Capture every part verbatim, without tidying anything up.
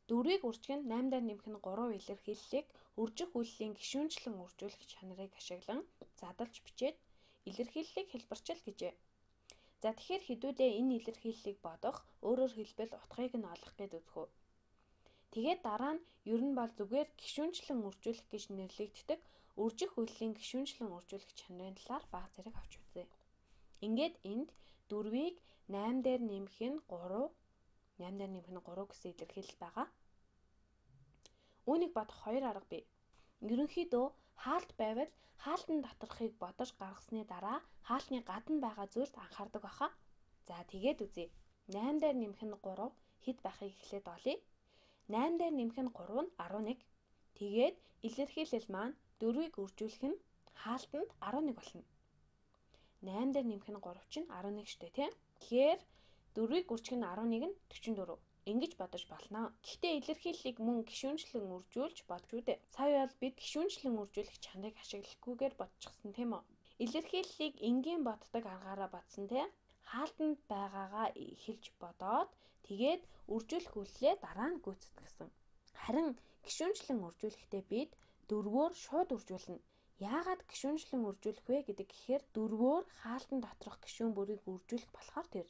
Дөрвийг үржих нь наймдаар нэмэх нь гурав илэрхийллийг үржих үйллийн гишүүнчлэн үржүүлэх чанарыг ашиглан задлж бичээд илэрхийллийг хэлбэрчил гэжээ. За тэгэхээр хэдүүдээ энэ илэрхийллийг бодох, өөрөөр хэлбэл утгыг нь олох гэд үзэх үү. Тэгээд дараа нь ер нь бол зүгээр гишүүнчлэн үржүүлэх гэж нэрлэгддэг үржих үйллийн гишүүнчлэн үржүүлэх чанарын талаар бага зэрэг авч үзье. Ингээд энд дөрвийг найм дээр нэмэх нь гурав, найм дээр нэмэх нь гурав гэсэн илэрхийлэл байгаа. Үүнийг бодох хоёр арга бий. Ерөнхийдөө хаалт байвал хаалтын доторхыг бодож гаргасны дараа хаалтны гадна байгаа зүйлд анхаардаг баха. За тэгээд үзье. найм дээр нэмэх нь гурав хэд байхыг эхлээд олъё. найм дээр нэмэх нь гурав нь арван нэг. Тэгээд илэрхийлэл маань дөрвийг үржүүлэх нь хаалтанд арван нэг болно. найм дээр нэмэх нь гурав чинь арван нэг штэ тийм. Тэгэхээр дөрвийг үржих нь арван нэг нь дөрвөн дөрөв. Ингэж бодож болно. Гэхдээ илэрхийллийг мөн гишүүнчлэн үржүүлж бодж үдэ. Сая бол бид гишүүнчлэн үржүүлэх чанарыг ашиглахгүйгээр бодчихсон тийм үү? Илэрхийллийг энгийн боддог аргаараа бодсон тийм. Хаалтанд байгаагаа эхэлж бодоод тэгээд үржүүлэх үйллээ дараа нь гүйцэтгсэн. Харин гишүүнчлэн үржүүлэхдээ бид дөрвөөр шууд үржүүлнэ. Яагаад гишүүнчлэн үржүүлэх вэ гэдэг гэхээр дөрвөөр хаалтан доторх гишүүн бүрийг үржүүлэх болохоор тэр.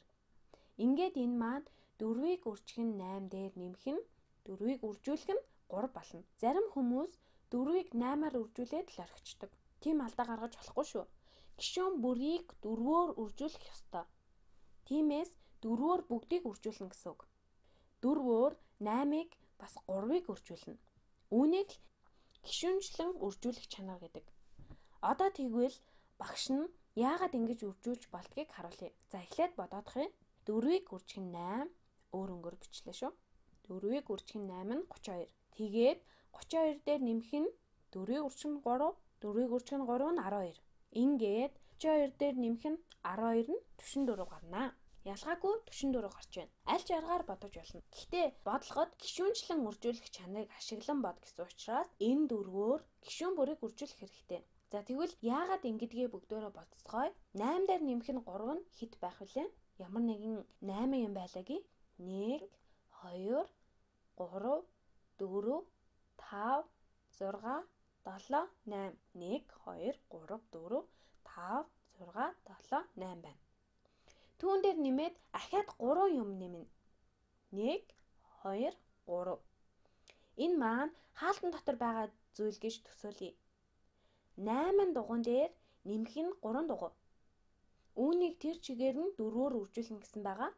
Ингээд энэ маань дөрвийг үржих нь найм дээр нэмэх нь дөрвийг үржүүлэх нь гурав болно. Зарим хүмүүс дөрвийг наймаар үржүүлээд л орхичдаг. Тийм алдаа гаргаж болохгүй шүү. Гишүүн бүрийг дөрвөөр үржүүлэх ёстой. Тиймээс дөрвөөр бүгдийг үржүүлнэ гэсэн үг. Дөрвөөр наймыг бас гурвыг үржүүлнэ. Үүнийг л гишүүнчлэн үржүүлэх чанар гэдэг. Одоо тэгвэл багш нь яагаад ингэж үржүүлж болдгийг харуулъя. За эхлээд бодоодох юм. дөрвийг үржих нь найм өөр өнгөөр бичлээ шүү. дөрвийг үржих нь найм нь гурван хоёр. Тэгээд гурван хоёр дээр нэмэх нь дөрвийг үржих нь гурав, дөрвийг үржих нь гурав нь арван хоёр. Ингээд гурван хоёр дээр нэмэх нь арван хоёр нь дөрвөн дөрөв гарнаа. Ялгаагүй дөрвөн дөрөв гарч байна. Аль ч аргаар бодож болно. Гэхдээ бодлогод гишүүнчлэн үржүүлэх чанарыг ашиглан бод гэсэн учраас энэ дөрвөөр гишүүн бүрийг үржүүлэх хэрэгтэй. За тэгвэл яагаад ингэдгээ бүгдөө болцгоё? найм дээр нэмэх нь гурав нь хэд байх вүлээ? Ямар нэгэн найм юм байлаагүй. нэг, хоёр, гурав, дөрөв, тав, зургаан, долоо, найм. нэг, хоёр, гурав, дөрөв, тав, зургаан, долоо, найм байна. Түүн дээр нэмээд ахаад гурван юм нэмнэ. нэг, хоёр, гурав. Энэ маань хаалтан дотор байгаа зүйл гэж төсөөлье. найман дугуйн дээр нэмэх нь гурван дугуй. Үүнийг тэр чигээр нь дөрвөөр үржүүлнэ гэсэн байгаа.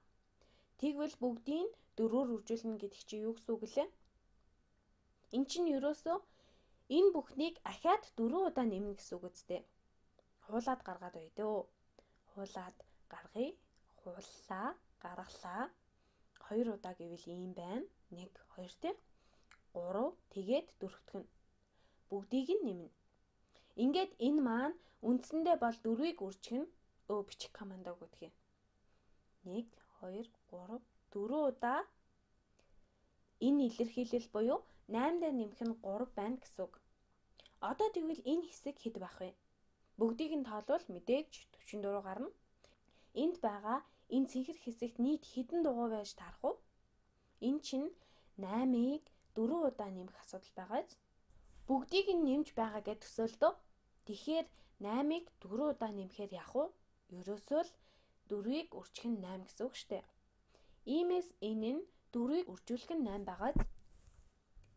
Тэгвэл бүгдийг дөрвөөр үржүүлнэ гэдэг чинь юу гэсэн үг лээ? Эн чинь ерөөсөө энэ бүхнийг ахаад дөрвөн удаа нэмнэ гэсэн үг үстэй. Хуулаад гаргаад бай дөө. Хуулаад гаргая. Хууллаа, гаргалаа. хоёр удаа гэвэл ийм байна. нэг, хоёр тий. гурав тэгээд дөрөвтгөн. Бүгдийг нь нэмнэ. Ингээд энэ маань үндсэндээ бол дөрвийг үржих нь өө бичих командаг гэдэг юм. нэг, хоёр, гурав, дөрвөн удаа энэ илэрхийлэл буюу найм дээр нэмэх нь гурав байна гэсэн үг. Одоо тэгвэл энэ хэсэг хэд байх вэ? Бүгдийг нь тоолвол мэдээж дөрвөн дөрөв гарна. Энд байгаа энэ цэнхэр хэсэгт нийт хэдэн дугуй байж таарах вэ? Энэ чинь наймыг дөрвөн удаа нэмэх асуудал байгааз. Бүгдийг нь нэмж байгаа гэж төсөөлдөө. Тэгэхээр наймыг дөрвөн удаа нэмэхээр яах вэ? Ерөөсөө л дөрвийг үржих нь найм гэсэн үг штэ. Иймээс энэ нь дөрвийг үржүүлэх нь найм байгааз.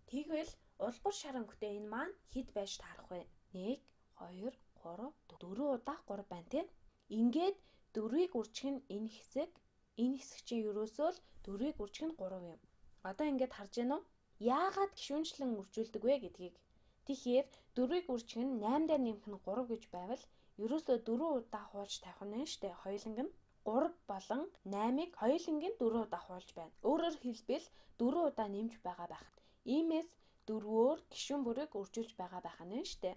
Тэгвэл улбар шар өнгөтэй энэ маань хэд байж таарах вэ? нэг, хоёр, гурав, дөрвөн удаа гурав байна тийм. Ингээд дөрвийг үржих нь энэ хэсэг, энэ хэсэг чинь ерөөсөө л дөрвийг үржих нь гурав юм. Одоо ингээд харж байна уу? Яагаад гишүүнчлэн үржүүлдэг вэ гэдгийг. Тэгэхээр дөрвийг үржих нь найм дээр нэмэх нь гурав гэж байвал ерөөсөө дөрвөн удаа хуулж тавих нь штэ. Хоёуланг нь гурав болон наймыг хоёуланг нь дөрвөн удаа хуулж байна. Өөрөөр хэлбэл дөрвөн удаа нэмж байгаа байх. Иймээс дөрвөөр гишүүн бүрийг үржүүлж байгаа байх нь штэ.